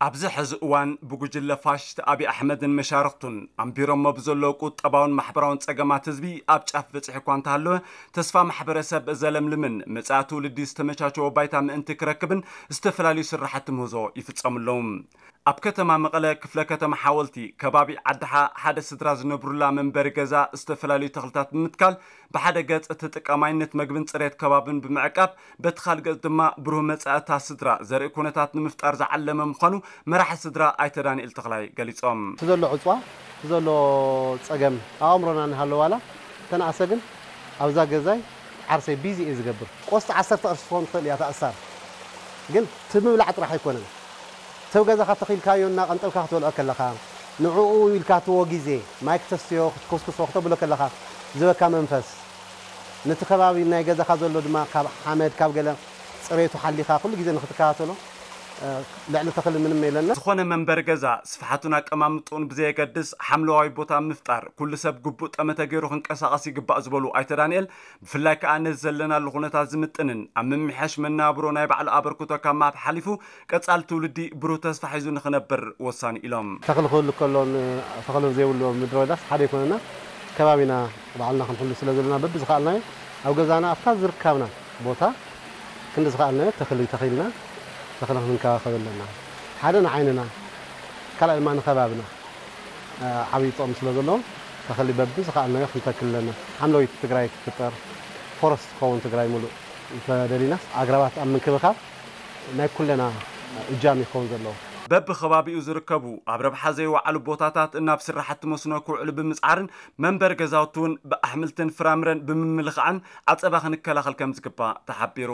ኣብዚ ሕዚ እዋን ብጉጅለ ፋሽስት ኣብይ ኣሕመድን መሻርኽቱን ኣንቢሮሞ ብዘለዉ ቁጠባውን ማሕበራውን ጸገማት ህዝቢ ኣብ ጫፍ በጺሑ እኳ እንተሃለወ፣ ተስፋ ማሕበረሰብ ዘለምልምን መጻኢ ትውልዲ ዝተመቻቸወ ባይታ ምእንቲ ክረክብን ዝተፈላለዩ ስራሕቲ ምህዞ ይፍጸሙ ኣለዉ። ኣብ ከተማ መቐለ ክፍለ ከተማ ሓወልቲ ከባቢ ዓድሓ ሓደ ስድራ ዝነብሩላ መንበሪ ገዛ ዝተፈላለዩ ተኽልታት ብምትካል ብሓደ ገጽ ተጠቃማይነት መግብን ጽሬት ከባብን ብምዕቃብ በቲ ካልእ ገጽ ድማ ብሩህ መጻኢ እታ ስድራ ዘርኢ ኩነታት ንምፍጣር ዝዓለመ ምዃኑ መራሒ ስድራ ኣይተ ዳንኤል ተኽላይ ገሊጾም። እቲ ዘሎ ዕጽዋ፣ እቲ ዘሎ ጸገም ኣብ ኣእምሮና እናሃለወ ዋላ ተነኣሰ ግን ኣብዛ ገዛይ ዓርሰይ ቢዚ እየ ዝገብር። ቆስጣ ዓሰርተ ቅርሺ ትኸውን ትኽእል እያ ተኣሳር። ግን እቲ ምብላዕ ጥራሕ ኣይኮነን። ሰብ ገዛኻ ተኺልካዮ እናቐንጠብካ ክትበልዖ ከለኻ፣ ንዕኡ ኢልካ ትዎ ግዜ፣ ማይ ክተስትዮ፣ ክትኮስኩሶ፣ ክተብሎ ከለኻ ዝበካ መንፈስ፣ ነቲ ከባቢ ናይ ገዛኻ ዘሎ ድማ ካብ ሓመድ፣ ካብ ገለ ጽሬቱ ሓሊኻ ኩሉ ግዜ ንኽትከታተሎ፣ እ፣ ልዕሊ ተኽሊ ምንም የለና። ዝኾነ መንበሪ ገዛ ስፍሓቱን ኣቀማምጥኡን ብዘየገድስ ሓምለዋይ ቦታ ምፍጣር ኩሉ ሰብ ግቡእ ጠመተ ገይሩ ክንቀሳቐስ ይግባእ ዝበሉ ኣይተ ዳንኤል፣ ብፍላይ ከኣ ነዚ ዘለናሉ ኩነታት ዝምጥንን ኣብ ምምሕያሽ መነባብሮ ናይ ባዕሉ ኣበርክቶ ካብ ምሃብ ሓሊፉ ቀጻሊ ትውልዲ ብሩህ ተስፋ ሒዙ ንኽነብር ወሳኒ ኢሎም። ተኽሊ ክህሉ ከሎ ን-፣ ተኽሊ ዘይብሉ ምድረ በዳስ ሓደ ኣይኮነና። ከባቢና ባዕልና ክንሕሉ ስለ ዘለና በብዝኸኣልናዮ ኣብ ገዛና ኣብታ ዝርካብና ቦታ ክንዲ ዝኸኣልናዮ ተኽሊ ተኺልና ተኽሊ ክንከባኸብ ኣለና። ሓደ ንዓይንና፣ ካልኣይ ድማ ንከባብና፣ እ፣ ዓብዪ ጥቕሚ ስለ ዘለዎ ተኽሊ በብዝኸኣልናዮ ክንተክል ኣለና። ሓምለወይቲ ትግራይ ክትፍጠር፣ ፎረስት ክኸውን ትግራይ ሙሉእ እንተደሊናስ ኣግራባት ኣብ ምንክብኻብ ናይ ኩለና እጃም ይኸውን ዘለዎ። በብኸባቢኡ ዝርከቡ ኣብ ረብሓ ዘይወዓሉ ቦታታት ናብ ስራሕቲ መስኖ ክውዕሉ ብምጽዓርን መንበሪ ገዛውቲ እውን ብኣሕምልትን ፍራምረን ብምምልኻዕን ዓጸባ ክንከላኸል ከም ዝግባእ ተሓቢሩ።